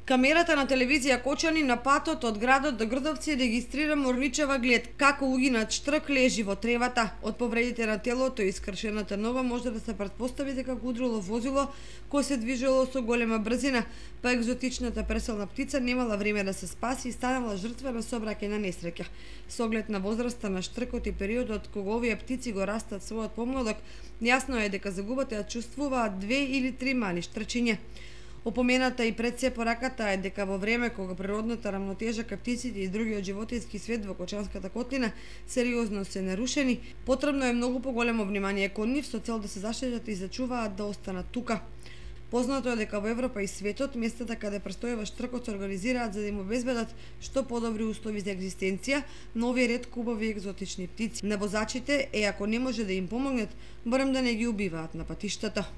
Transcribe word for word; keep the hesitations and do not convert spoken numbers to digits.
Камерата на телевизија Кочани на патот од градот до Грдовци регистрира морничева глед како угинат штрк лежи во тревата. Од повредите на телото и искршената нога може да се претпостави дека го удрило возило кое се движело со голема брзина, па екзотичната преселна птица немала време да се спаси и станала жртва на сообраќајна несреќа. Со оглед на возраста на штркот и периодот кога овие птици го растат својот помладок, јасно е дека загубата ја чувствуваат две или три мали штрчиња. Опомената и пред се пораката е дека во време кога природната рамнотежа кај птиците и другиот животински свет во Кочанската котлина сериозно се нарушени, потребно е многу поголемо внимание кон нив со цел да се заштитат и зачуваат да останат тука. Познато е дека во Европа и светот местата каде престојува штркот се организираат за да им обезбедат што подобри услови за екзистенција на овие ретко убави екзотични птици. На возачите е ако не може да им помогнат, барем да не ги убиваат на патиштата.